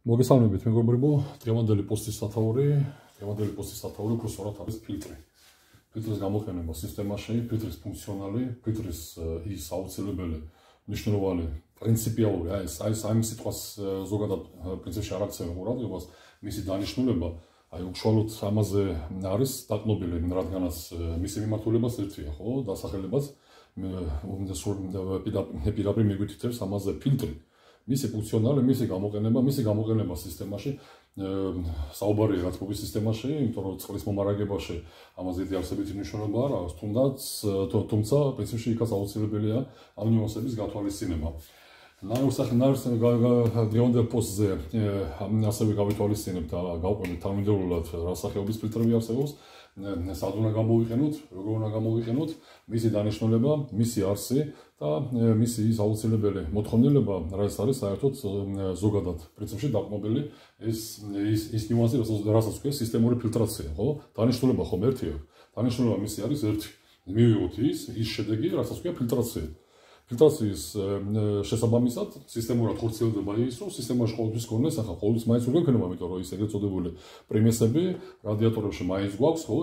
მოგესალმებით მეგობრებო, დღევანდელი პოსტის სათაური უფრო სწორად არის ფილტრი. ფილტრის გამოყენება სისტემაში, ფილტრის ფუნქციონალი, ფილტრის ის აუცილებელი მნიშვნელოვანი პრინციპიალური, აი სიტყვას ზოგადად პრინციპში არ აქცევენ ყურადღებას, მისი დანიშნულება, უშუალოდ ამაზე არის დაკნობილი, რადგანაც მისი მიმართულებაც ერთია, ხო, დასახელებაც პირდაპირ მიგვითითებს ამაზე ფილტრი. მისი ფუნქციონალი, მისი გამოყენება სისტემაში, საუბარია გათბობის სისტემაში, იმიტომ რომ წყლის მომარაგებაში ამაზე დიდი არსებითი მნიშვნელობა არ აქვს, თუმცა პრინციპში იქაც აუცილებელია ამ ნიუანსების გათვალისწინება. დღევანდელ პოსტზე ასევე გავითვალისწინებთ და გავყვებით თანმიმდევრულად რა სახეობის ფილტრები არსებობს, სად უნდა გამოვიყენოთ, როგორ უნდა გამოვიყენოთ, მისი დანიშნულება, მისი არსი და მისი ის აუცილებელი მოთხოვნილება, რაც არის საერთოდ ზოგადად პრინციპში დაკნობილი ის ნიუანსი, რასაც ქვია სისტემური ფილტრაცია, ხო? დანიშნულება ხომ ერთია. დანიშნულება მისი არის ერთი. მივიღოთ ის შედეგი, რასაც ქვია ფილტრაცია. ფილტრაციის შესაბამისად სისტემურად ხორციელდება ის, რომ სისტემაში ყოველთვის გქონდეს, ახლა ყოველთვის მაინც უნდა გქონდეს, იმიტომ რომ ის ეგრეთ წოდებული პრიმესები რადიატორებში მაინც გვაქვს, ხო?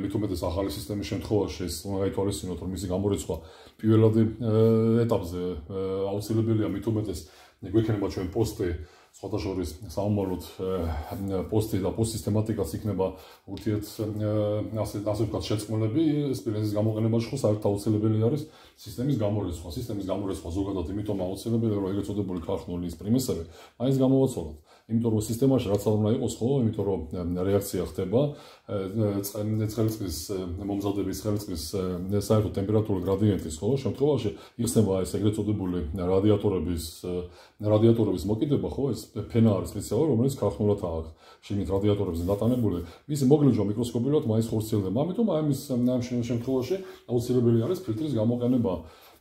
მით უმეტეს ახალი სისტემის შემთხვევაში ეს უნდა გაითვალისწინოთ, რომ მისი გამორიცხვა პირველად ეტაპზე აუცილებელია, მით უმეტეს გვექნება ჩვენ პოსტი სხვათა შორის საომაროდ პოსტი და პოსტ სისტემატიკაც იქნება ურთიერთ ასე ვთქვათ შეწყმულები სპილენზის გამოყენებაში ხო საერთოდ აუცილებელი არის სისტემის გამორიცხვა ზოგადად იმიტომ აუცილებელია რომ ეგრეთ წოდებული ქარხნული ის პრიმესები მაინც გამოვაცვალოთ იმიტომ რომ სისტემაში რაც არ უნდა იყოს ხო იმიტომ რომ რეაქცია ხდება ცხელწყლის მომზადების ცხელწყლის საერთო ტემპერატურული გრადიენტის ხო შემთხვევაში იხსნება ეს ეგრეთ წოდებული რადიატორების მოკიდება ხო ეს ფენა არის სპეციალური რომელიც ქარხნულად აქვს შიგნით რადიატორებზე დატანებული მისი მოგლეჯვა მიკროსკოპიულად მაინც ხორციელდება ამიტომ აი ამ შემთხვევაში აუცილებელი არის ფილტრის გამოყენება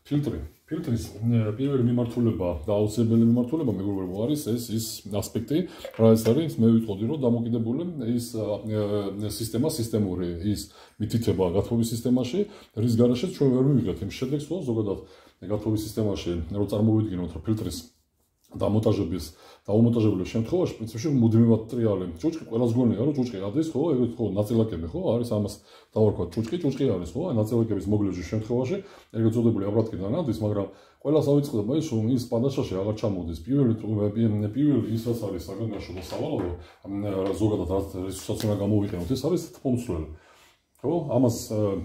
ფილტრის პირველი მიმართულება და აუცილებელი მიმართულება მეგობრებო არის ის ასპექტი რაც არის მე ვიტყოდი რომ დამოკიდებული ის სისტემური ის მითითება გათბობის სისტემაში რის გარშეც ჩვენ ვერ მივიღეთ იმ შედეგს რომ ზოგადად გათბობის სისტემაში რომ წარმოვიდგინოთ რომ ფილტრის დამონტაჟების დაუმონტაჟებლის შემთხვევაში პრინციპში მუდმივად ტრიალი ჭუჭყი ყველას გონია რომ ჭუჭყი არის ხო ეგრეთ ხო ნაწილაკები ხო არის ამას დავარქვათ ჭუჭყი არის ხო აი ნაწილაკების მოგლეჯვის შემთხვევაში ეგრეთ წოდებული აბრატკიდან ადის მაგრამ ყველას ავიწყდება ის რომ ის პანდაშაში აღარ ჩამოდის პირველი ის რაც არის საგანგაშო და სავალალო ზოგადად რასაც უნდა გამოვიყენოთ ეს არის თბომცვლელი ხო ამას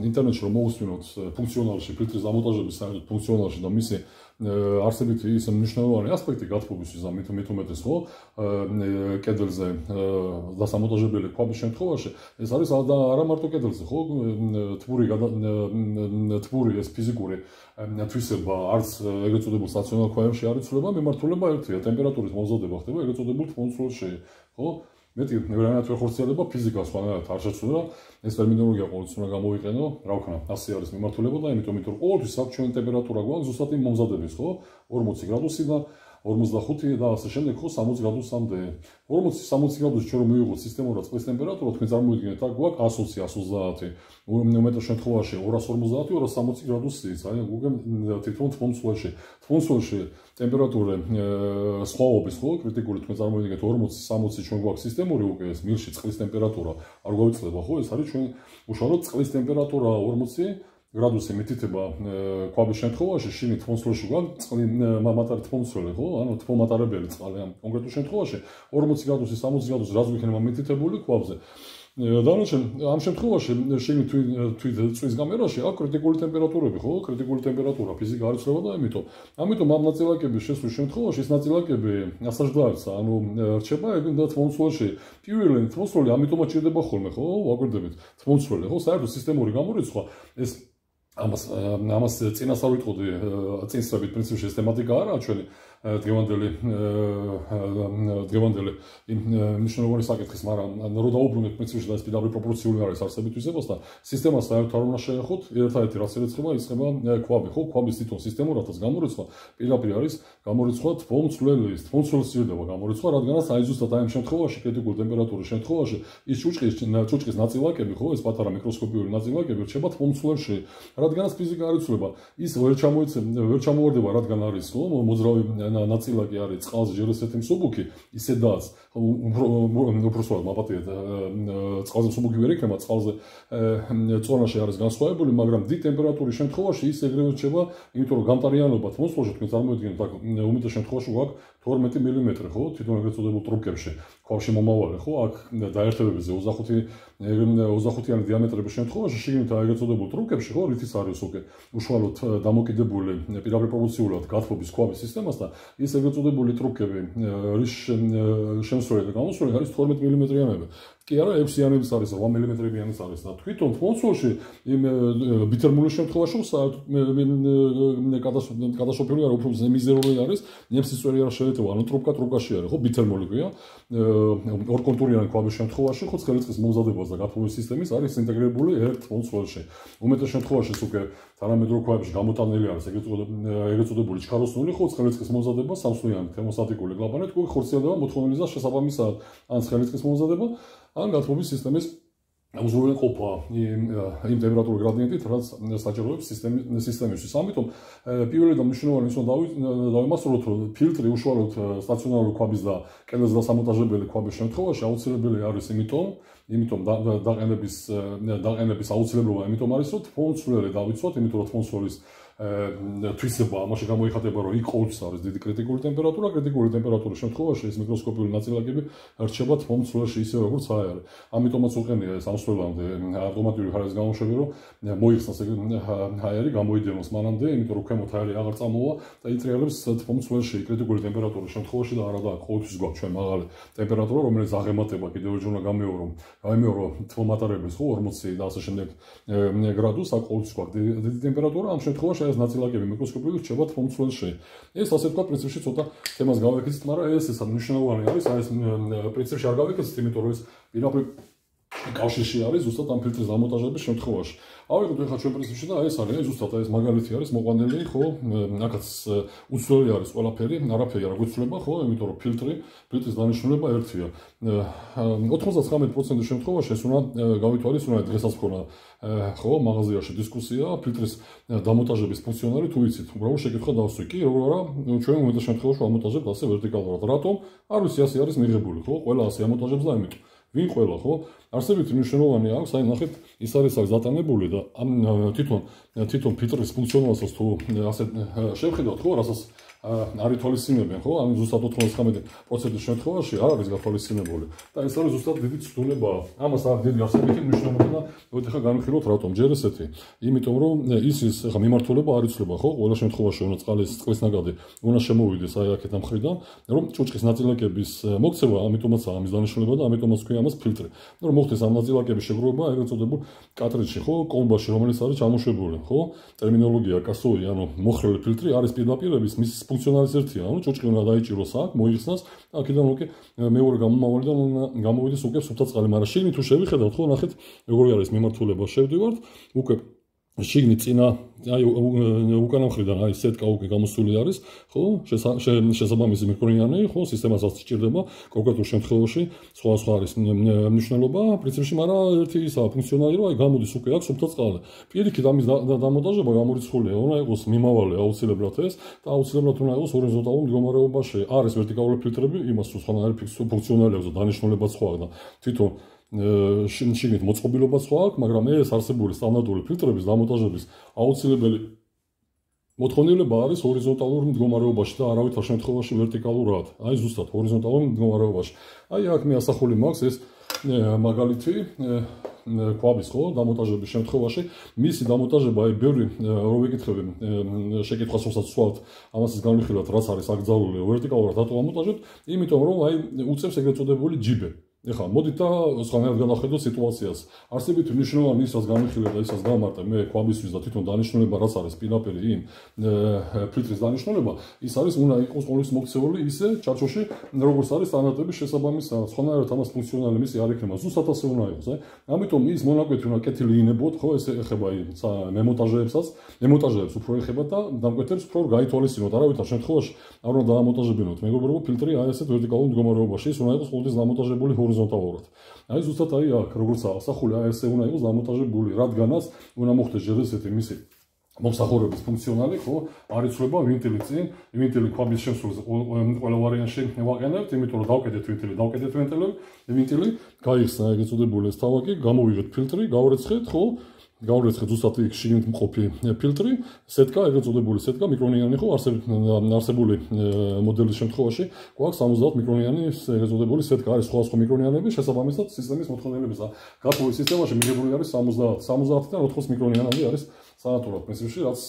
ინტერნეტში რომ მოусვინოთ ფუნქციონალში ფილტრის დამონტაჟების საერთოდ ფუნქციონალში და მისი არსებითი ის მნიშვნელოვანი ასპექტი გათბობისთვის და მით უმეტეს ხო კედელზე დასამონტაჟებელი ქვაბის შემთხვევაში ეს არის არა მარტო კედელზე ხო თბური ეს ფიზიკური თვისება არც ეგრეთ წოდებულ სტაციონარ ქვაბებში არ იცვლება მიმართულება ერთია ტემპერატურის მომზადება ხდება ეგრეთ წოდებულ თბომცვლელში ხო მეტი ნევრალურად ხორციელდება ფიზიკა სხვანაირად არ შეცვლა ეს ტერმინოლოგია ყოველთვის უნდა გამოვიყენო რა ვქნა ასე არის მიმართულება და იმიტომ რომ ყოველთვის საჩვენი ტემპერატურა გვაქვს ზუსტად იმ მომზადების ხო 40 გრადუსი და 45 და ასე შემდეგ ხო 60 გრადუსამდე 40-60 გრადუსი ჩვენ რომ მივიღოთ სისტემურად წყლის ტემპერატურა თქვენ წარმოიდგინეთ აქ გვაქვს 120 უმეტეს შემთხვევაში 250-260 გრადუსიც აი თვითონ თბომცველში ტემპერატურა სხვაობის ხო კრიტიკული თქვენ წარმოიდგინეთ 40-60 ჩვენ გვაქვს სისტემური უკვე ეს მილში წყლის ტემპერატურა არ გვავიწყდება ხო ეს არის ჩვენ უშუალოდ წყლის ტემპერატურა 40 გრადუსი მითითება ქვაბის შემთხვევაში შიგნით თბომცველში გვაქვს წყალი მატარი თბომცველი ხო ანუ თბომატარებელი წყალი ამ კონკრეტულ შემთხვევაში 40 გრადუსი 60 გრადუსი რაც გვიქნება მითითებული ქვაბზე დანარჩენ ამ შემთხვევაში შიგნით წვის გამერაში აქვს კრიტიკული ტემპერატურები ხო კრიტიკული ტემპერატურა ფიზიკა არ იცვლება და ამიტომ ამ ნაწილაკების შესვლის შემთხვევაში ეს ნაწილაკები ასაჯდაებს ანუ რჩება და თბომცველში პირველი თბომცველი ამიტომაც ჭირდება ხოლმე ხო ვაკვირდებით თბომცველი ხო საერთოდ სისტემური გამორიცხვა ეს ამას წინასწარ ვიტყოდი წინსწრებით პრინციპში ეს თემატიკა არაა ჩვენი დღევანდელი მნიშვნელოვანი საკითხის მაგრამ რო დაუბრუნდეთ პრინციპში და ეს პირდაპირ პროპორციული არის არსებით თვისებასთან სისტემას საერთოდ არ უნდა შეეხოთ ერთადერთი რაც ირიცხება ქვაბი ხო ქვაბის თვითონ სისტემურადაც გამორიცხვა პირდაპირ არის გამორიცხვა თბომცვლელის ჭირდება გამორიცხვა რადგანაც აი ზუსტად აი ამ შემთხვევაში კრიტიკული ტემპერატურის შემთხვევაში ის ჭუჭყის ნაწილაკები ხო ეს პატარა მიკროსკოპიული ნაწილაკები რჩება თბომცვლელში რადგანაც ფიზიკა არ იცვლება ის ვერ ჩამოვარდება რადგან არის ხო მოძრავი ნაწილაკი არის წყალზე ჯერ ესეთი მსუბუქი, ისედაც უფრო სწორად მაპატიეთ წყალზე მსუბუქი ვერ იქნება, წყალზე წონაში არის განსხვავებული, მაგრამ დიდ ტემპერატურის შემთხვევაში ის ეგრევე რჩება, იმიტომ რომ გამტარიანობა ატმოსფეროში თქვენ წარმოიდგინეთ, აქ უმეტეს შემთხვევაში გვაქვს 12 მმ, ხო, თვითონ ეგრეთ წოდებულ ტრუბკებში, ქვაში მომავალი, ხო, აქ დაერთებებზე 25-იანი დიამეტრების შემთხვევაში შიგნით ეგრეთ წოდებულ ტრუბკებში, ხო, რითიც არის უკვე უშუალოდ დამოკიდებული პირდაპირ პროპორციულად გათბობის ქვაბის სისტემასთან, ის ეგრეთ წოდებული ტრუბკები, რის შემსვლელი და გამოსვლელი არის 12 მმ-იანები. კი არა, 6-იანების არის, 8 მმ-იანის არის და თვითონ თმონცვლში იმ ბითერმულის შემთხვევაში კატასტროფული არა, უფრო მიზერული არის, ნემსის წვერი არ შეიძლება, ანუ ტრუბკაში არის, ხო, ბითერმული ქვია. ორკონტურიანი ქვაბის შემთხვევაში, ხო, ცხელიწვის მომზადებას და გათბობის სისტემის არის ინტეგრირებული ერთ თმონცვლში. უმეტეს შემთხვევაშიც უკვე თანამედროვე ქვაბებში გამოტანილი არის ეგრეთ წოდებული ჩქაროსნული, ხო, ცხელიწვის მომზადება სამსვლიანი თერმოსტატიკური კლაპანით, უკვე ხორციელდება მოთხოვნილის და შესაბამისად ან ცხელიწვის მომზადება, ან გათბობის სისტემის უზრუნველყოფა იმ ტემპერატურულ გრადიენტით, რაც საჭიროებს სისტემისთვის. ამიტომ პირველი და მნიშვნელოვანი ის უნდა დავიმასწროთ, რომ ფილტრი უშუალოდ სტაციონარული ქვაბის და კედელზე დასამონტაჟებელი ქვაბის შემთხვევაში აუცილებელი არის, იმიტომ დაყენების აუცილებლობა იმიტომ არის, რომ თმონცვლელი დავიცვათ, იმიტომ რომ თმონცვლის თვისება ამაში გამოიხატება, რომ იქ ყოველთვის არის დიდი კრიტიკული ტემპერატურის შემთხვევაში ეს მიკროსკოპიული ნაწილაკები რჩება თმონცვლში ისე როგორც არის. ამიტომაც უყენია ეს ამსვლელამდე ავტომატიური ხარისხის გამოშვება, რომ მოიხსნას ჰაერი გამოიდენოს მანამდე, იმიტომ რომ ქვემოთ ჰაერი აღარ წამოვა და იტრიალებს თმონცვლში კრიტიკული ტემპერატურის შემთხვევაში და არა და ყოველთვის გვაქვს ჩვენ მაღალი ტემპერატურა, რომელიც აღემატება კიდევ ერთხელ უნდა გამეორო თმომატარების, ხო, 40 და ასე შემდეგ გრადუსს, აქ ყოველთვის გვაქვს დიდი ტემპერატურა, ამ შემთხვევაში ეს ნაწილაკები მიკროსკოპიულად რჩება თმონცვლში. ეს ასე თქვა პრინციპში ცოტა თემას გავაკეთეთ, მაგრამ ეს მნიშვნელოვანი არის, ეს პრინციპში არ გავაკეთეთ, იმიტომ რომ ეს პირდაპირ კავშირში არის ზუსტად ამ ფილტრის დამონტაჟების შემთხვევაში. ავიღოთ ახლა ჩვენ პრინციპში და ეს არის, ზუსტად ეს მაგალითი არის მოყვანილი, ხო, აქაც უცვლელი არის ყველაფერი, არაფერი არ გვიცვლება, ხო, იმიტომ რომ ფილტრის დანიშნულება ერთია. 99% შემთხვევაში ეს უნდა გავითვალისწინოთ, დღესაც მქონდა ხო, მაღაზიაში დისკუსია, ფილტრის დამონტაჟების ფუნქციონალი თუ იცით, უბრალოდ შეკითხვა დავსვი, კი, როგორ არა, ჩვენ უმეტეს შემთხვევაში ამონტაჟებთ ასე ვერტიკალურად. რატომ? არ ვიცი, ასე არის მიღებული, ხო, ყველა ასე ამონტაჟებს და ამიტომ ვინ ყველა, ხო? არსებითი მნიშვნელოვანი აქვს, აი ნახეთ, ის არის დატანებული და თვითონ ფილტრის ფუნქციონალსაც თუ ასე შევხედავთ, ხო, რასაც არ ითვალისწინებენ, ხო? ანუ ზუსტად 99% შემთხვევაში არ არის გათვალისწინებული და ეს არის ზუსტად დიდი ცდუნება. ამას არ დიდი არსებითი მნიშვნელობა და მოდი განვიხილოთ რატომ. ჯერ ესეთი, იმიტომ რომ ის ხა მიმართულება არ იცვლება, ხო? ყველა შემთხვევაში უნდა წყლის ნაკადი უნდა შემოვიდეს აი აქეთ ამ მხრიდან, რომ ჭუჭყის ნაწილაკების მოქცევა, ამიტომაც ამის დანიშნულება და ამიტომაც ქვია ამას ფილტრი. რომ მოხდეს ამ ნაწილაკების შეგროვება ეგრეთ წოდებულ კარტრიჯში, ხო? კომბაში, რომელიც არის ჩამოშვებული, ხო? ტერმინოლოგია კასოი, ანუ მოხრილი ფილტრი არის პირდაპირების მის ფუნქციონალის ერთია, ანუ ჭუჭყი უნდა დაიჭიროს აქ, მოიხსნას და აქედან უკვე მეორე გამომავალიდან გამოვიდეს უკვე სუფთა წყალი, მაგრამ შიგნით თუ შევიხედავთ, ხო, ნახეთ, როგორი არის მიმართულება, შევდივართ, უკვე შიგნით წინა აი უკანა მხრიდან აი სეტკა უკვე გამოსული არის, ხო? შესაბამისი მიკროინიანი, ხო, სისტემასაც სჭირდება კონკრეტულ შემთხვევაში, სხვა არის მნიშვნელობა, პრინციპში, მაგრამ ერთი ისა ფუნქციონალი, რომ აი გამოდის უკვე აქ სუფთა წყალი. პირიქით ამის დამონტაჟება გამორიცხულია, უნდა იყოს მიმავალი აუცილებლად ეს და აუცილებლად უნდა იყოს ჰორიზონტალურ მდგომარეობაში. არის ვერტიკალური ფილტრები, იმას თუ სხვანაირი ფუნქციონალი აქვს და დანიშნულებაც სხვა და თვითონ შიგნით მოწყობილობა სხვა აქვს, მაგრამ ეს არსებული სტანდარტული ფილტრების დამონტაჟების აუცილებელი მოთხოვნილება არის ჰორიზონტალურ მდგომარეობაში და არავითარ შემთხვევაში ვერტიკალურად. აი ზუსტად ჰორიზონტალურ მდგომარეობაში. აი აქ მე ასახული მაქვს ეს მაგალითი ქვაბის, ხო, დამონტაჟების შემთხვევაში, მისი დამონტაჟება, აი ბევრი რო ვიკითხები შეკითხვას რასაც სვავთ, ამასაც განვიხილოთ, რაც არის აკრძალული ვერტიკალურად რატო ამონტაჟებთ, იმიტომ რომ აი უწევს ეგრეთ წოდებული ჯიბე. ეხლა მოდით და სხვანაირად განახედოთ სიტუაციას. არსებითი მნიშვნელოვანი ის, რაც განვიხილეთ და ისაც გავმარტე მე ქვაბისთვის და თვითონ დანიშნულება, რაც არის პირდაპირ იმ ფილტრის დანიშნულება, ის არის უნდა იყოს ყოველთვის მოქცეული ისე ჩარჩოში, როგორც არის სტანდარტების შესაბამისად. სხვანაირად ამას ფუნქციონალი მისი არ იქნება, ზუსტად ასე უნდა იყოს, აი. ამიტომ ის მონაკვეთი უნდა კეთილი ინებოთ, ხო, ეს ეხება მემონტაჟეებს უფრო ეხება და დამკვეთებს უფრო გაითვალისწინოთ, არავითარ შემთხვევაში არ უნდა დაამონტაჟებინოთ მეგობრებო ფილტრი აი ესეთ ვერტიკალურ მდგომარეობაში, ის უნდა იყოს ყოველთვის დამონტაჟებული ჰორიზონტალურად. აი ზუსტად აი აქ როგორც ასახული, აი ესე უნდა იყოს დამონტაჟებული, რადგანაც უნდა მოხდეს ჯერ ესეთი მისი მომსახურების ფუნქციონალი, ხო, არ იცვლება ვინტილი წინ, ვინტილი ქვაბის შემსრულს ყველა ვარიანტში ვაყენებთ, იმიტომ რომ დავკიდეთ ვინტილი, გაიხსნა ეგრეთ წოდებული ეს თავაკი, გამოვიღეთ ფილტრი, გავრეცხეთ, ხო? გავრეცხეთ ზუსტად იქ შიგნით მყოფი ფილტრი, სეტკა, ეგრეთ წოდებული სეტკა, მიკრონიანი ხო, არსებული მოდელის შემთხვევაში გვაქვს 70 მიკრონიანი ეგრეთ წოდებული სეტკა, არის სხვა მიკრონიანები, შესაბამისად სისტემის მოთხოვნილების გათხოვის სისტემაში მიღებული არის 70-დან 80 მიკრონიანამდე არის სანატურად პრინციპში, რაც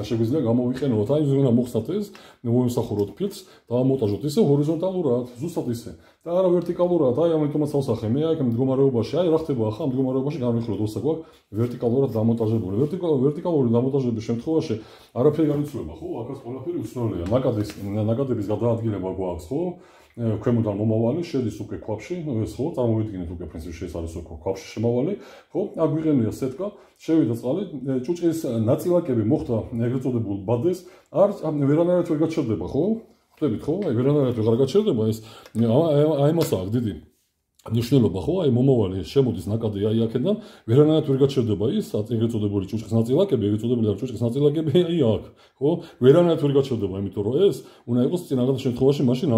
შეგვიძლია გამოვიყენოთ, აი ზუსტად მოხსნათ ეს, მოვიმსახუროთ ფილტრს, დავამონტაჟოთ ისე ჰორიზონტალურად, ზუსტად ისე. და არა ვერტიკალურად, აი ამიტომაც ავსახე, მე აქ მდგომარეობაში, აი რა ხდება ახლა მდგომარეობაში განვიხილოთ, როცა გვაქვს ვერტიკალურად დამონტაჟებული. ვერტიკალური დამონტაჟების შემთხვევაში არაფერი არ იცვლება, ხო? აქაც ყველაფერი უცვლელია. ნაკადების გადაადგილება გვაქვს, ხო? ქვემოდან მომავალი შედის უკვე ქვაბში, ეს ხო, წარმოვიდგინეთ უკვე პრინციპში ეს არის უკვე ქვაბში შემავალი, ხო? აქ გვიყენია სეტკა, შევიდა წყალი, ჭუჭყის ნაწილაკები მოხდა ეგრეთ წოდებულ ბადეს, ვერანაირად ვერ გაჩერდება, ხო? ხვდებით ხო? აი ვერანაირად ვერ გაჩერდება ეს, აი მასაა დიდი ნიშნულობა ხო? აი მომავალი შემოდის ნაკადი აი აქედან, ვერანაირად ვერ გაჩერდება ის ეგრეთ წოდებული ჭუჭყის ნაწილაკები, ეგრეთ წოდებული ჭუჭყის ნაწილაკები აი აქ, ხო? ვერანაირად ვერ გაჩერდება, იმიტომ რომ ეს უნდა იყოს წინაღაც შემთხვევაში მაშინ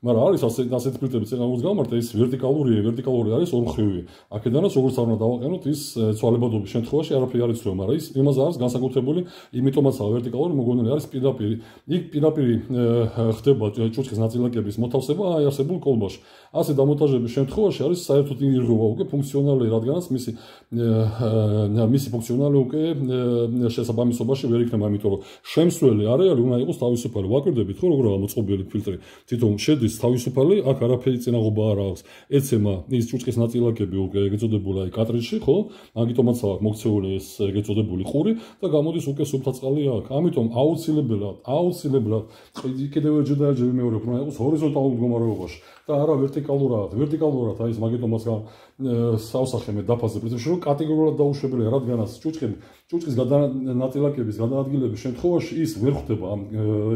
მაგრამ არის ასეთი ფილტრები წინაღაც გამართა, ის ვერტიკალური არის ორმხრივი. აქედანაც როგორც არ უნდა დავაყენოთ ის ცვალებადობის შემთხვევაში არაფერი არ იცვლება, მაგრამ ის იმაზე არის განსაკუთრებული, იმიტომაცაა ვერტიკალური მოგონილი არის პირდაპირი. იქ პირდაპირი ხდება ჭუჭყის ნაწილაკების მოთავსება აი არსებულ კოლბაში. ასე დამონტაჟების შემთხვევაში არის საერთოდ ირღვევა უკვე ფუნქციონალი, რადგანაც მისი ფუნქციონალი უკვე შესაბამისობაში ვერ იქნება, იმიტომ რომ შემსვლელი არეალი უნდა იყოს თავისუფალი. ვაკვირდებით ხო როგორ გამოწყობილი ფილტრი. თვითონ შედის თავისუფალი, აქ არაფერი წინაღობა არ აქვს. ეცემა ის ჭუჭყის ნაწილაკები უკვე ეგრეთ წოდებული აი კატრიჯში, ხო? მაგიტომაც აქვს მოქცეული ეს ეგრეთ წოდებული ყური და გამოდის უკვე სუფთა წყალი აქ. ამიტომ აუცილებლად კიდევ ერჯერ და ერჯერ ვიმეორებ, რომ იყოს ჰორიზონტალურ მდგომარეობაში და არა ვერტიკალურად აი ეს მაგიტომაც სავსახე მე დაფაზე პრინციპში რომ კატეგორიულად დაუშვებელია, რადგანაც ჭუჭყის ნაწილაკების გადაადგილების შემთხვევაში ის ვერ ხდება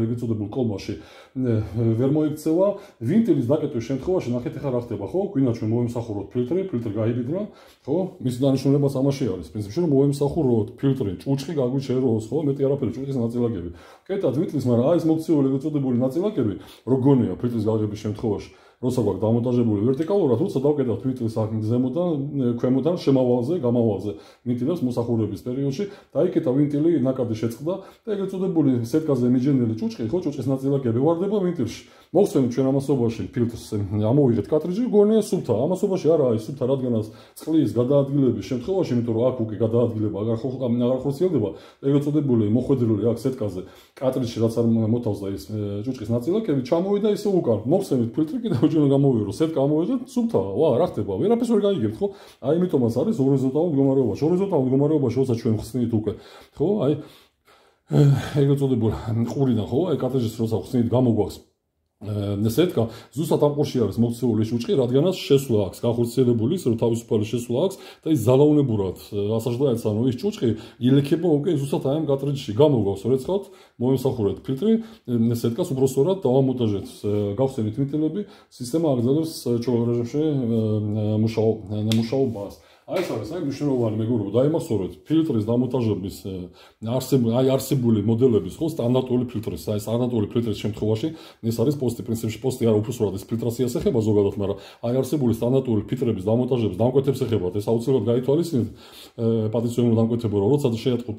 ეგრეთ წოდებულ კოლბაში, ვერ მოიქცევა ვინტილის დაკეტვის შემთხვევაში. ნახეთ ახლა რა ხდება, ხო? გვინდა ჩვენ მოვიმსახუროთ ფილტრი გაიბიდრა, ხო? მისი დანიშნულებაც ამაში არის პრინციპში რომ მოვიმსახუროთ ფილტრი, ჭუჭყი გაგვიჩეროს, ხო? მეტი არაფერი ჭუჭყის ნაწილაკები. კეთად ვიტლის, მაგრამ აი ეს მოქცეული ეგრეთ წოდებული ნაწილაკები რო გონია ფილტრის გაყიდვის შემთხვევაში, როცა გვაქვს დამონტაჟებული ვერტიკალურად, როცა დავკეტავთ ვინტილს აქ ზემოდან, ქვემოდან, შემავალზე, გამავალზე, ვინტილებს მოსახურების პერიოდში, დაიკეტა ვინტილი, ნაკადი შეწყდა და ეგრეთ წოდებული სეტკაზე მიჯენილი ჭუჭყი, ხო, ჭუჭყის ნაწილაკები ვარდება ვინტილში. მოხსენებთ ჩვენ ამასობაში ფილტრს, ამოვიღეთ კატრიჯი, გონია სუფთა. ამასობაში არა არის სუფთა, რადგანაც წყლის გადაადგილების შემთხვევაში, იმიტომ რომ აქ უკვე გადაადგილება აღარ ხორციელდება, ეგრეთ წოდებული მოხვედრილი აქ სეტკაზე კატრიჯში, რაც არ მოთავსდა ის ჭუჭყის ნაწილაკები, ჩამოვიდა ისე უკან. მოხსენებთ ფილტრი კიდევ ჩვენ გამოვიღო, სეტკა ამოვიღეთ, სუფთა. ვა, რა ხდება? ვერაფერს ვერ გაიგებთ, ხო? აი იმიტომაც არის ჰორიზონტალურ მდგომარეობაში. ჰორიზონტალურ მდგომარეობაში, როცა ჩვენ ხსნით უკვე, ხო? აი ეგრეთ წოდებული ყურიდან, ხო? აი კატრიჯის როცა ხსნით გამოგვაქვს სეტკა, ზუსტად ამ ყურში არის მოქცეული ჭუჭყი, რადგანაც შესვლა აქვს, განხორციელებული ის, რომ თავისუფალი შესვლა აქვს და ის ზალაუნებურად ასაჯდაებს, ანუ ის ჭუჭყი ილექება უკვე ზუსტად აი ამ კატრიჯში. გამოგვაქვს, როცა მოვიმსახურეთ ფილტრი, სეტკას უბრალოდ დავამონტაჟეთ, გავხსენით ვინტილები, სისტემა აგრძელებს ჩვეულ რეჟიმში მუშაობას. აი ეს არის, აი მნიშვნელოვანი მეგობრებო, დაიმახსოვრეთ ფილტრის დამონტაჟების არსებული მოდელების, ხო, სტანდარტული ფილტრის, აი სტანდარტული ფილტრის შემთხვევაში ეს არის პოსტი, პრინციპში პოსტი არა უფროსურად ეს ფილტრაციას ეხება ზოგადად, მაგრამ აი არსებული სტანდარტული ფილტრების დამონტაჟების დამკვეთებს ეხებათ, ეს აუცილებლად გაითვალისწინეთ პატივცემულო დამკვეთება, რომ როცა შეატყოთ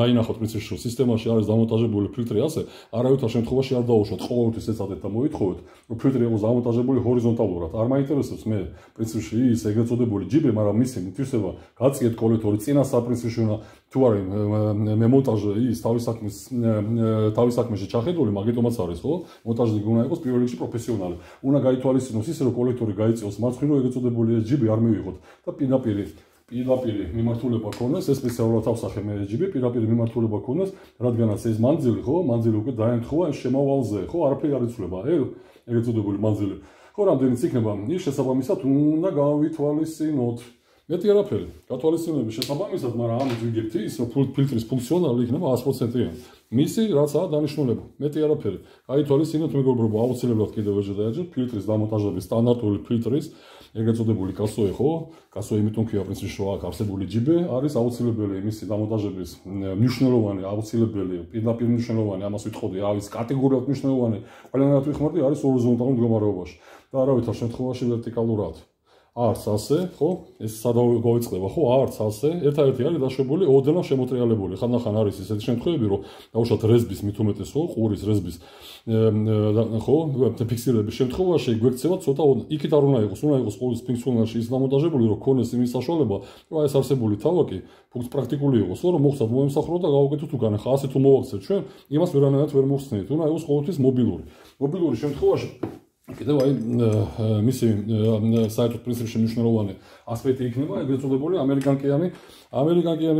დაინახოთ პრინციპში რომ სისტემაში არის დამონტაჟებული ფილტრი ასე, არავითარ შემთხვევაში არ დაუშვათ, ყოველთვის ეცადეთ და მოითხოვეთ, რომ ფილტრი იყოს დამონტაჟებული ჰორიზონტალურად. არ მაინტერესებს მე პრინციპში ის ეგრეთ წოდებული ჯიბი, მაგრამ მითვისება გაციეთ კოლექტორი წინა საპრინციპში უნდა თუ არის მე მონტაჟი ის თავის საქმეში ჩახედული, მაგიტომაც არის, ხო? მონტაჟი უნდა იყოს პირველ რიგში პროფესიონალი. უნდა გაითვალისწინოს ისე რომ კოლექტორი გაიწიოს მარცხნივ ეგრეთ წოდებული ჯიბი არ მივიღოთ და პირდაპირი მიმართულება ქონდეს, ეს სპეციალურად ავსახე მე ჯიბი, პირდაპირი მიმართულება ქონდეს, რადგანაც ეს მანძილი, ხო? მანძილი უკვე დაემთხვა შემავალზე, ხო? არაფერი არ იცვლება, ეგრეთ წოდებული მანძილი. ხო, რამდენიც იქნება, ის შესაბამისად უნდა გავითვალისწინოთ. მეტი არაფერი. გათვალისწინების შესაბამისად, მაგრამ ამით ვიგებთ ის, რომ ფილტრის ფუნქციონალი იქნება 100%-იანი. მისი რაცაა დანიშნულება. მეტი არაფერი. გაითვალისწინოთ მეგობრებო, აუცილებლად კიდევ ერთხელ და ერთხელ ფილტრის დამონტაჟების სტანდარტული ფილტრის ეგრეთ წოდებული კასოე ხო? კასოე იმიტომ ქვია პრინციპში რომ აქ არსებული ჯიბე არის აუცილებელი მისი დამონტაჟების მნიშვნელოვანი, აუცილებელი, პირდაპირ მნიშვნელოვანი, ამას ვიტყოდი, არის კატეგორიულად მნიშვნელოვანი. ყველანაირად ვიხმარდი არის ჰორიზონტალურ მდგომარეობაში და არავითარ შემთხვევაში ვერტიკალურად. არც ასე, ხო? ეს სადავე გავიწყდება, ხო? არც ასე. ერთადერთი არის დაშვებული ოდნავ შემოტრიალებული. ხანდახან არის ესეთი შემთხვევები, რომ დაუშვათ რეზბის მით უმეტეს, ხო? ყურის რეზბის ხო? ფიქსირების შემთხვევაში გვექცევა ცოტა იქით არ უნდა იყოს, უნდა იყოს ყურის ფუნქციონალში ის დამონტაჟებული, რომ ქონდეს იმის საშუალება, რომ ეს არსებული თავაკი პრაქტიკული იყოს, რომ მოხსნათ მოემსახურო და გავაკეთოთ უკან. ხა ასე თუ მოვაქცევთ ჩვენ, იმას ვერანაირად ვერ მოხსნით. უნდა იყოს ყოველთვის მობილური. მობილური შემთხვევაში კიდევ აი მისი საერთოდ პრინციპში მნიშვნელოვანი ასპექტი იქნება ეგრეთ წოდებული ამერიკანკიანი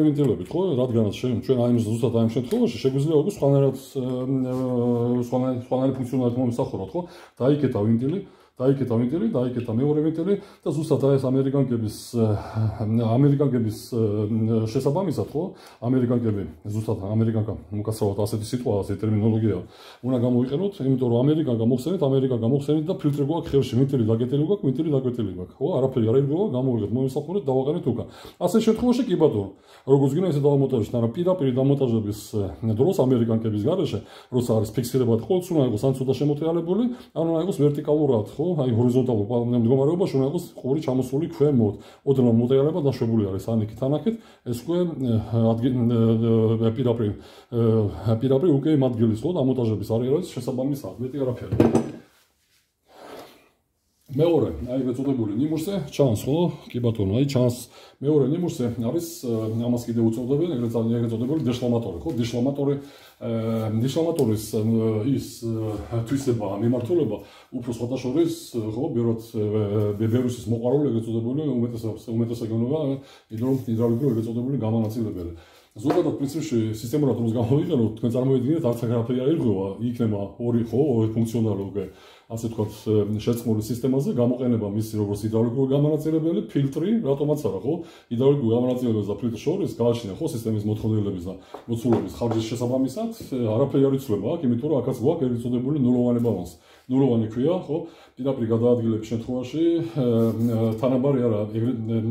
ვინტილებით, ხო? რადგანაც ჩვენ აი ზუსტად აი ამ შემთხვევაში შეგვიძლია უკვე სხვანაირი ფუნქციონალით მომისახუროთ, ხო? დაიკეტა ვინტილი, დაიკეტა მეორე ვინტილი და ზუსტად აი ეს ამერიკანკების შესაბამისად, ხო? ამერიკანკები ზუსტად ამერიკანკა უკაცრავად ასეთი სიტუაცია, ტერმინოლოგია უნდა გამოიყენოთ, იმიტომ რომ ამერიკანკა მოხსენით და ფილტრი გვაქვს ხელში, ვინტილი დაკეტილი გვაქვს, ხო? არაფერი არ ირგოვა, გამოვიღეთ, მომისახურეთ, დავაყენეთ უკან. ასე შემთხვევაში კი ბატონო, როგორც გინდა ესე დავამონტაჟოთ, მაგრამ პირდაპირ დამონტაჟების დროს ამერიკანკების გარეშე, როცა არის ფიქსირებად, ყოველთვის უნდა იყოს ან ცოტა შემოტრიალებული, ან უნდა იყოს ვერტიკალურად, ხო? აი ჰორიზონტალურ მდგომარეობაში უნდა იყოს ყური ჩამოსული ქვემოთ. ოდნავ მოტრიალება დაშვებული არის ანიქით ანაკეთ, ეს უკვე პირდაპირ უკვე იმ ადგილის, ხო, დამონტაჟების არის შესაბამისად, მეტი არაფერი. მეორე, აი ეგრეთ წოდებული ნიმუშზე ჩანს, ხო? კი ბატონო, აი ჩანს მეორე ნიმუშზე არის ამას კიდევ უწოდებენ ეგრეთ წოდებული დეშლამატორი, ხო? დეშლამატორის ის თვისება, მიმართულება უფრო სხვათა შორის, ხო, ბერუსის მოყვარული ეგრეთ წოდებული უმეტესად გეუბნება ჰიდრაულიკური ეგრეთ წოდებული გამონაწილებელი. ზოგადად პრინციპში სისტემურად რომ გამოვიყენოთ, თქვენ წარმოიდგინეთ, არც არაფერი არ ირღვევა, იქნება ორი ფუნქციონალი უკვე ასე ვთქვათ, შეწყმული სისტემაზე გამოყენება მისი როგორც ჰიდრაულიკური გამონაწილებელი, ფილტრი, რატომაც არა, ხო? ჰიდრაულიკური გამონაწილებელს და ფილტრს შორის გააჩნია, ხო, სისტემის მოთხოვნილების და მოცულობის ხარჯის შესაბამისად, არაფერი არ იცვლება აქ, იმიტომ რომ აქაც გვაქვს ეგრეთ წოდებული ნულოვანი ბალანსი. ნულოვანი ქვია, ხო? პირდაპირ გადაადგილების შემთხვევაში თანაბარი არა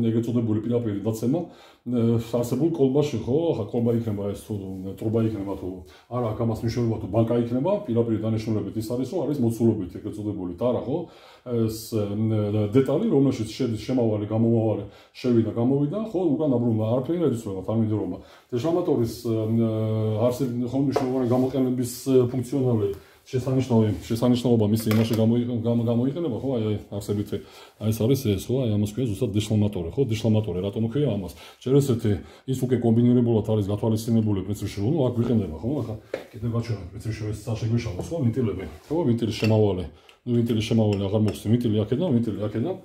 ეგრეთ წოდებული პირდაპირ დაცემა არსებულ კოლბაში, ხო? ახლა კოლბა იქნება ეს თუ ტრუბა იქნება თუ არა, აქ ამას მნიშვნელობა თუ ბანკა იქნება, პირდაპირ დანიშნულებით ის არის, რომ არის მოცულობით ეგრეთ წოდებული ტარა, ხო? ეს დეტალი, რომელშიც შედის შემავალი, გამომავალი, შევიდა, გამოვიდა, ხო? უკან აბრუნდა, არაფერი არ იცვლება თანმიმდევრობა. დეშლამატორის მნიშვნელოვანი გამოყენების ფუნქციონალი შესანიშნაობა მისი იმაში გამოიყენება, ხო? აი არსებითი აი ეს არის ეს, ხო? აი ამას ქვია ზუსტად დეშლამატორი, ხო? დეშლამატორი რატომ ქვია ამას? ჯერ ესეთი ის უკვე კომბინირებულად არის გათვალისწინებული პრინციპში, რომ აქ გვიყენება, ხო? ახლა კიდევ გაჩვენოთ პრინციპში ეს შეგვეშალოს, ხო? ვინტილები, ხო? ვინტილის შემავალი აღარ მოხსნი, ვინტილი აქედან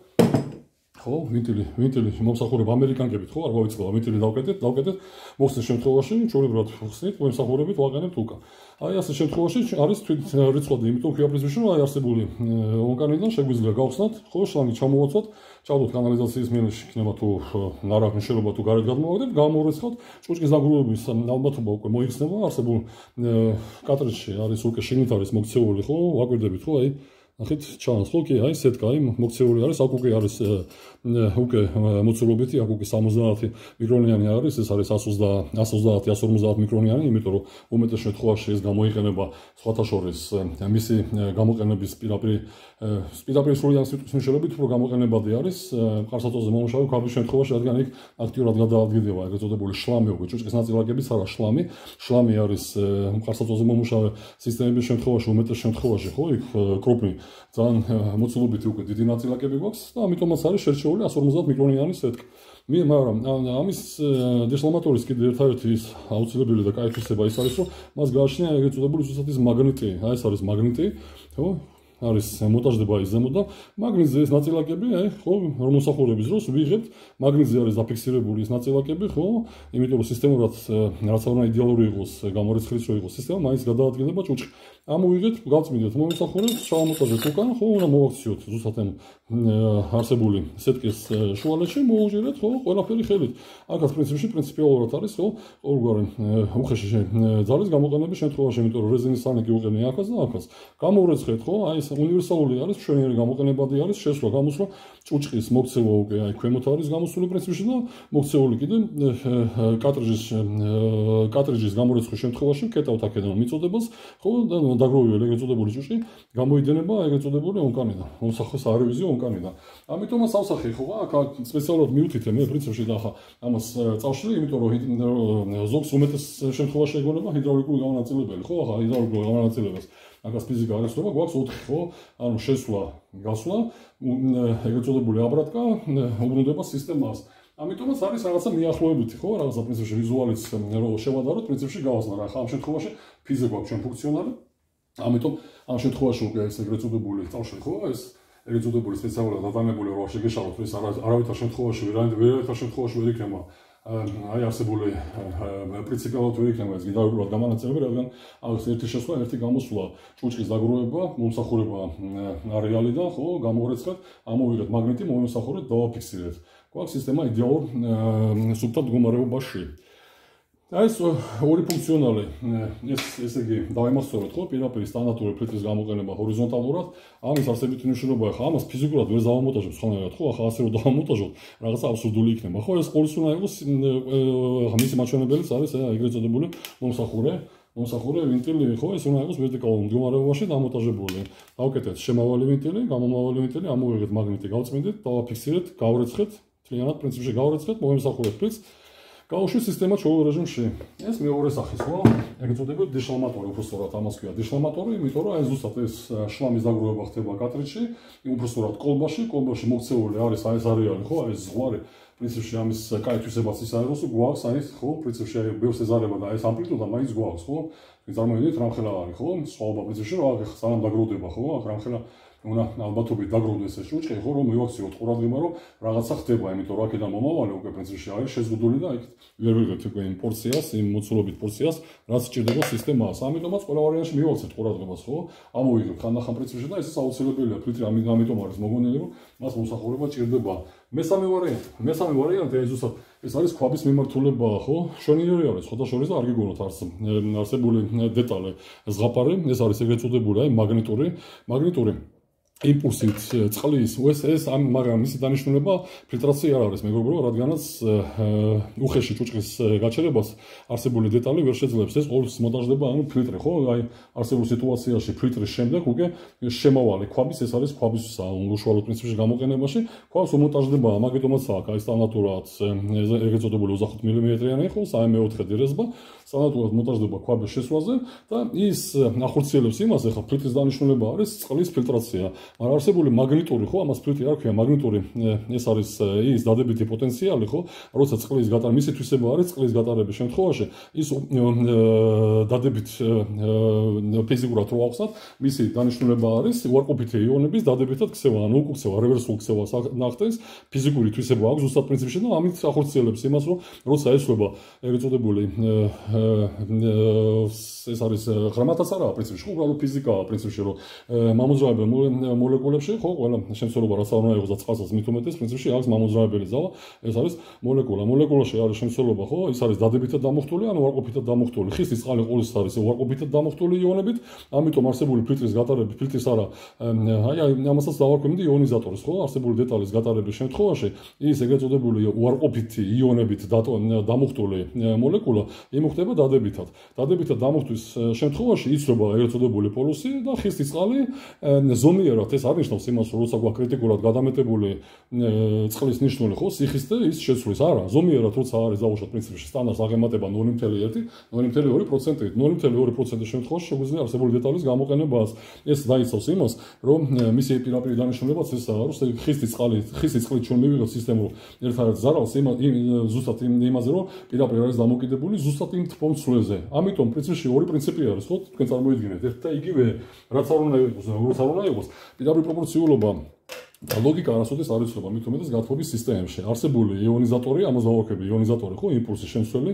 ხო, ვინტილი მომსახურება ამერიკანკებით, ხო, არ გავიწყდა, ვინტილი დავკეტეთ, მოხსნის შემთხვევაში, ჩვეულებრივად ხსნით, მომსახურებით ვაყენებთ უკან. აი ასე შემთხვევაში არის რიცხვადი, იმიტომ ქვია პრინციპში, რომ აი არსებული ონკანიდან შეგვიძლია გავხსნათ, ხო, შლამი ჩამოვაცვათ, ჩავდოთ კანალიზაციის მიელში, იქნება თუ ნარაკ მნიშვნელობა თუ გარეთ გადმოვაგდეთ, გამორიცხავთ, ჭუჭკის დაგროვების ალბათობა უკვე მოიხსნება, არსებულ კატრიჯში არის უკვე შიგნით არის მოქცეული, ხო, ვაკვირდებით, ხო, აი ნახეთ ჩანს, ხო, კი, აი სეტკა, აი მოქცეული არის, აქ უკვე არის უკვე მოცულობითი, აქ უკვე 70 მიკრონიანი არის, ეს არის 130-150 მიკრონიანი, იმიტომ რომ უმეტეს შემთხვევაში ეს გამოიყენება სხვათა შორის მისი გამოყენების პირდაპირ სრულად სიტუაციებით უფრო გამოყენებადი არის მყარსაწვაზე მომუშავე ქვაბის შემთხვევაში, რადგან იქ აქტიურად გადაადგილდება ეგრეთ წოდებული შლამი, უკვე ჭუჭკის ნაწილაკების არა შლამი არის მყარსაწვაზე მომუშავე სისტემების შემთხვევაში, უმეტეს შემთხვევაში, ხო, იქ კრუპი ძალიან მოცულობითი უკვე დიდი ნაწილაკები გვაქვს და ამიტომაც არის შერჩეული 150 მიკრონიანი სეტკა. მაგრამ ამის დეშლამატორის კიდევ ერთადერთი ის აუცილებელი და კაი თვისება ის არის, რომ მას გააჩნია ეგრეთ წოდებული ზუსტად ის მაგნიტი, აი ეს არის მაგნიტი, ხო? არის მონტაჟდება ის ზემოთ და მაგნიტზე ეს ნაწილაკები, აი, ხო, რომ მოსახურების დროს ვიღებთ, მაგნიტზე არის დაფიქსირებული ის ნაწილაკები, ხო? იმიტომ რომ სისტემურად რაც არ უნდა იდეალური იყოს, გამორიცხვის რო იყოს სისტემა, მაინც გადაადგილდება ჭუჭკი. ამოვიღეთ, გავწმინდეთ მომსახურეს, ჩავამოტაჟეთ უკან, ხო, უნდა მოვაქციოთ ზუსტად ამ არსებული სეტკის შუალედში, მოუჭირეთ, ხო, ყველაფერი ხელით. აქაც პრინციპიალურად არის, ხო, ყოველგვარი უხეში ძალის გამოყენების შემთხვევაში, იმიტომ რომ რეზინის სანიკი უყენია აქაც და აქაც. გამოვრეცხეთ, ხო, აი ეს უნივერსალური არის, მშვენიერი გამოყენებადი არის, შესვლა, გამოსვლა, ჭუჭყის მოქცევა უკვე აი ქვემოთ არის გამოსული პრინციპში და მოქცეული კიდე კარტრიჯის გამორეცხვის შემთხვევაში კეტავთ აქედან მიწოდებას, ხო, და დაგროვებული ეგრეთ წოდებული ჭუჭყი გამოიდენება ეგრეთ წოდებული ონკანიდან, მომსახურეს არევიზიო ონკანიდან. ამიტომაც ავსახე ხო, აქ სპეციალურად მივთითე მე პრინციპში და ახლა ამას წავშლი, იმიტომ რომ ზოგს უმეტეს შემთხვევაში ეგონება ჰიდრაულიკური გამონაწილებელი, ხო, ახლა ჰიდრაულიკურ გამონაწილებას აკას ფიზიკა არ ესწრება, გვაქვს 4, ხო, ანუ შესვლა, გასვლა, ეგრეთ წოდებული აბრატკა, უბრუნდება სისტემას. ამიტომაც არის რაღაცა მიახლოებითი, ხო, რაღაცა პრინციპში ვიზუალიც რო შევადაროთ, პრინციპში გავაზნა რა, ხა ამ შემთხვევაში ფიზიკა გვაქვს ჩვენ ფუნქციონალი. ამიტომ ამ შემთხვევაში უკვე ეს ეგრეთ წოდებული წავშლი, ხო, ეს ეგრეთ წოდებული სპეციალურად დატანებული რო შეგეშალოთ, ეს არავითარ შემთხვევაში ვერანაირ შემთხვევაში ვერ იქნება აი არსებული პრინციპიალურად ვერ იქნება ეს გიდავრულად გამანაწილებელი, რადგან აქვს ერთი შესვლა, ერთი გამოსვლა, ჭუჭყის დაგროვება, მომსახურება არეალიდან, ხო, გამოვრეცხეთ, ამოვიღეთ მაგნიტი, მომსახურეთ, დავაფიქსირეთ. გვაქვს სისტემა იდეალურ სუბთა მდგომარეობაში. აი ეს ორი ფუნქციონალი, ესე იგი დავიმახსოვროთ, ხო, პირდაპირ სტანდარტული ფილტრის გამოყენება ჰორიზონტალურად, ამის არსებითი მნიშვნელობა ახლა ამას ფიზიკურად ვერ დავამონტაჟებთ ხოლმე, ხო, ახლა ასე რომ დავამონტაჟოთ, რაღაცა აბსურდული იქნება, ხო, ეს ყოველთვის უნდა იყოს მისი მაჩვენებელიც არის ეგრეთ წოდებული მომსახურე ვინტილი, ხო, ეს უნდა იყოს ვერტიკალურ მდგომარეობაში დამონტაჟებული. დავკეთეთ შემავალი ვინტილი, გამომავალი ვინტილი, ამოვიღეთ მაგნიტი, გავწმინდეთ, დავაფიქსირეთ, გავრეცხეთ, მთლიანად პრინციპში გავრეცხეთ, მომსახურეთ ფილტს. გაუშვით სისტემა ჩვეულ რეჟიმში. ეს მეორე სახის, ხო? ეგრეთ წოდებული დეშლამატორი, უბრალოდ ამას ქვია დეშლამატორი, იმიტომ რომ აი ზუსტად ეს შლამის დაგროვება ხდება კარტრიჯში, უბრალოდ კოლბაში მოქცეული არის აი ეს არეალი, ხო? აი ეს ზღვარი, პრინციპში ამის კაი თვისებაც ის არის, რომ გვაქვს აი ეს, ხო? პრინციპში აი ბევრს ეზარება და აი ეს ამპლიტუდა მაინც გვაქვს, ხო? წარმოიდგინეთ რამხელა არის, ხო? სხვაობა პრინციპში რომ აქ სანამ დაგროვდება, ხო? აქ რამხელა უნდა ალბათობით დაგროვდეს ეს ჭუჭყი, ხო, რომ მივაქციოთ ყურადღება, რომ რაღაცა ხდება, იმიტომ რომ აქედან მომავალი უკვე პრინციპში არის შეზღუდული და იქ ვერ ვიღებთ უკვე იმ პორციას, იმ მოცულობით პორციას, რაც სჭირდება სისტემას. ამიტომაც ყველა ვარიანტში მივაქცეთ ყურადღებას, ხო? ამოვიღებთ ხანდახან პრინციპში და ეს აუცილებელია, ფილტრი ამიტომ არის მოგონილი, რომ მას მოსახურება ჭირდება. მესამე ვარიანტი აი ზუსტად ეს არის ქვაბის მიმართულება, ხო? შვენიერი არის, ხოდა შორის და არ გიგონოთ არსებული დეტალი. ზღაპარი, ეს არის ეგრეთ წოდებული, აი მაგნიტური იმპულსით წყლის, მაგრამ მისი დანიშნულება ფილტრაცია არ არის, მეგობრებო, რადგანაც უხეში ჭუჭყის გაჩერებას არსებული დეტალი ვერ შეძლებს. ეს ყოველთვის მონტაჟდება, ანუ ფილტრი, ხო? აი არსებულ სიტუაციაში ფილტრის შემდეგ უკვე შემავალი ქვაბის, ეს არის ქვაბის უშუალო პრინციპში გამოყენებაში, ქვაბს უმონტაჟდება, მაგიტომაც აქ აი სტანდარტულად ეგრეთ წოდებული 25 მმ-იანი, ხო, 3/4 დირეზბა, სტანდარტულად მონტაჟდება ქვაბის შესვლაზე და ის ახორციელებს იმას, ახლა ფილტრის დანიშნულება არის წყლის ფილტრაცია. მაგრამ არსებული მაგნიტური, ხო, ამას ფილტრი არ ქვია, მაგნიტური, ეს არის ის დადებითი პოტენციალი, ხო, როცა წყლის გატარება, მისი თვისება არის წყლის გატარების შემთხვევაში, ის დადებით ფიზიკურად რო ავხსნათ, მისი დანიშნულება არის უარყოფითი იონების დადებითად ქცევა, ანუ უკუქცევა, რევერსულ ქცევას ნახტენს, ფიზიკური თვისება აქვს ზუსტად პრინციპში და ამით ახორციელებს იმას, რომ როცა ესვება ეგრეთ წოდებული ეს არის ღრმათაც არა პრინციპში, უბრალოდ ფიზიკაა პრინციპში, რომ მამოძრავებელ მოლეკულებში, ხო, ყველა შემცველობა რაც არ უნდა იყოს და წყალსაც მით უმეტეს პრინციპში აქვს მამოძრავებელი ძალა, ეს არის მოლეკულა. მოლეკულაში არის შემცველობა, ხო, ის არის დადებითად დამუხტული, ანუ უარყოფითად დამუხტული. ხის წყალი ყოველთვის არის უარყოფითად დამუხტული იონებით, ამიტომ არსებული ფილტრის გატარების, ფილტრის არა, აი ამასაც დავარქვენდი იონიზატორს, ხო, არსებული დეტალის გატარების შემთხვევაში, ის ეგრეთ წოდებული უარყოფითი იონებით დამუხტული მოლეკულა იმუხტება დადებითად. დადებითად დამუხტვის შემთხვევაში იცვლება ეგრეთ წოდებული პოლუსი და ხის წყალი ზომიერად ეს არნიშნავს იმას, რომ როცა გვაქვს კრიტიკულად გადამეტებული წყლის ნიშნული, ხო, სიხის და ის შეცვლის, არა, ზომიერად როცა არის დაუშვათ პრინციპში სტანდარტს აღემატება 0.1, 0.2%, 0.2% შემთხვევაში შეგვიძლია არსებული დეტალის გამოყენებას. ეს დაიცავს იმას, რომ მისი პირაპირ დანიშნულებაც ესაა, რომ ხის წყლით ჩვენ მივიღებთ სისტემურ ერთადერთ ზარალს ზუსტად იმაზე, რომ პირაპირ არის დამოკიდებული ზუსტად იმ თბომცვლაზე. ამიტომ პრინციპში ორი პრინციპი არის, ხო, თქვენ წარმოიდგინეთ, ერთ და იგივე, რაც არ უნდა იყოს, როგორც არ უნდა იყოს, პირდაპირ პროპორციულობა ლოგიკა არასოდეს არ იცვლება მით უმეტეს გათბობის სისტემებში. არსებული იონიზატორი, ამას დავარქები იონიზატორი ხო, იმპულსის შემცველი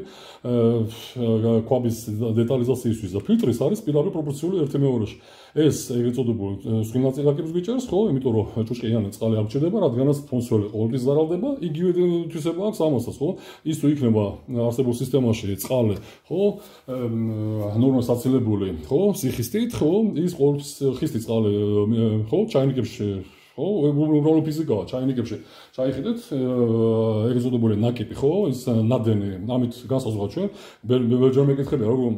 კვაბის დეტალიზაციისთვის და ფილტრის არის პირდაპირ პროპორციული 1:2-ში. ეს ეგრეთ წოდებულ სვინაწილაკებს გვიჭერს ხო, იმიტომ რომ ჭუჭყიანი წყალი არ გჭირდება, რადგანაც ფონსველი ყოველთვის ზარალდება, იგივე თვისება აქვს ამასაც ხო. ის თუ იქნება არსებულ სისტემაში წყალი ხო, ნორმას აცილებული ხო, სიხისტით ხო, ის ყოველთვის ხისტი წყალი ხო, ჩაინიკებში ხო, უბრალოდ ფიზიკაა, ჩაინიკებში ჩაიხედეთ ეგრეთ წოდებული ნაკიპი ხო, ის ნადენი, ამით განსაზღვრა ჩვენ, ბევრჯერ მეკითხებია, როგორ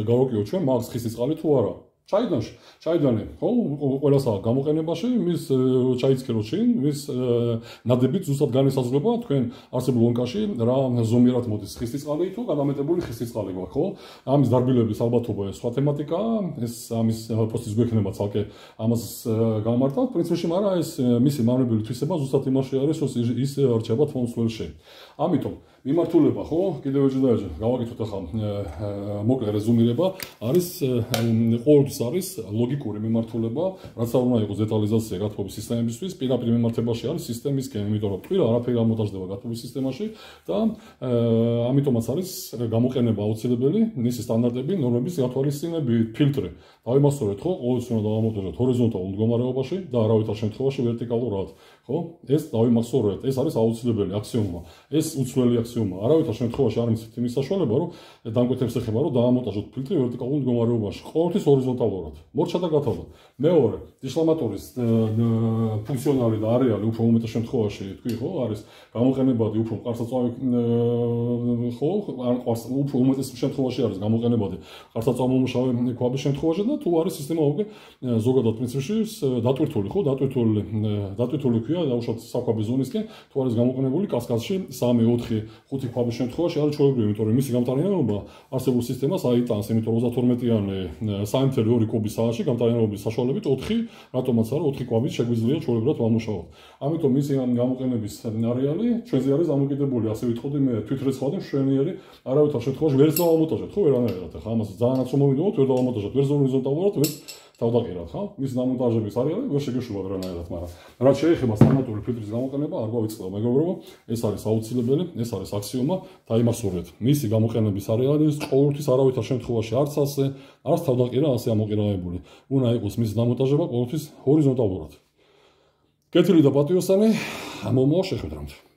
გავაკიოთ ჩვენ მაგს ხისტი წყალი თუ არა. ჩაიდანი, ხო, ყველასა გამოყენებაში, მის ჩაიცქეროთ შინ, მის ნადებით ზუსტად განესაზღვრება თქვენ არსებულ ლონკაში რა ზომიერად მოდის ხისტის წყალი თუ გადამეტებული ხისტის წყალი გვაქვს, ხო? ამის დარბილების ალბათობა ეს სხვა თემატიკაა, ეს ამის პოსტის გვექნება ცალკე ამას გამართავთ, პრინციპში, მაგრამ ეს მისი მავნებელი თვისება ზუსტად იმაში არის, რომ ის რჩება თვალსაჩინო. ამიტომ მიმართულება ხო, კიდევ ეჭვდაეჭვ, გავაკეთოთ ახლა მოკლე რეზუმირება, არის ყოველთვის არის ლოგიკური მიმართულება, რაც არ უნდა იყოს დეტალიზაცია გათბობის სისტემებისთვის, პირდაპირ მიმართებაში არის სისტემისკენ, იმიტომ რომ ტყილა არაფერი არ მომტაჟდება გათბობის სისტემაში და ამიტომაც არის გამოყენება აუცილებელი, მისი სტანდარტები, ნორმების გათვალისწინებით, ფილტრი. დავიმახსოვრეთ ხო, ყოველთვის უნდა დავამონტაჟოთ ჰორიზონტალურ მდგომარეობაში და არავითარ შემთხვევაში ვერტიკალურად, ხო? ეს დავიმახსოვრეთ, ეს არის აუცილებელი აქსიომა. ეს უცვლელი აქსიომა. არავითარ შემთხვევაში არ მიცით იმის საშუალება, რომ დამკვეთებს ეხება, რომ დაამონტაჟოთ ფილტრი ვერტიკალურ მდგომარეობაში. ყოველთვის ჰორიზონტალურად. მორჩა და გათავდა. მეორე, დიშლამატორის ფუნქციონალი და არეალი უფრო უმეტეს შემთხვევაში, თქვი ხო, არის გამოყენებადი უფრო მყარსაწვავი ხო, უფრო უმეტეს შემთხვევაში არის გამოყენებადი მყარსაწვავმომუშავე ქვაბის შემთხვევაში და თუ არის სისტემა უკვე ზოგადად პრინციპში დატვირთული ხო, დატვირთული ქვია დაუშვათ საქვაბის ზონისკენ, თუ არის გამოყენებული კასკადში 3, 4, 5 ქვაბის შემთხვევაში არის ჩვეულებრივი, იმიტომ რომ მისი გამტარიანობა არსებულ სისტემას აიტანს, იმიტომ რომ 32-იანი 3.2 კუბის საათში გამტარიანობის საშუალებით 4, რატომაც არა 4 კვაბით შეგვიძლია ჩვეულებრივად ვამუშაოთ. ამიტომ მისი გამოყენების არეალი ჩვენზე არის დამოკიდებული, ასე ვიტყოდი მე თვითრეცხავდი მშვენიერი, არავითარ შემთხვევაში ვერ დავამონტაჟოთ ხო ვერანაირად. ახლა ამას ძალიან რომ მომიდოვოთ, ვერ დავამონტაჟოთ, ვერ ჰორიზონტალურად, ვერ თავდაყირათ, ხო? მის დამონტაჟების არეალი ვერ შეგეშულა ვერანაირად, მაგრამ რაც შეეხება სტანდარტული ფილტრის გამოყენება, არ გავიწყდება, მეგობრებო, ეს არის აუცილებელი, ეს არის აქსიომა, დაიმახსოვრეთ. მისი გამოყენების არეალი ის ყოველთვის არავითარ შემთხვევაში არც ასე, არც თავდაყირა ასე ამოყენებული. უნდა იყოს მისი დამონტაჟება ყოველთვის ჰორიზონტალურად. კეთილი და პატიოსანი, მომავალ შეხვედრამდე.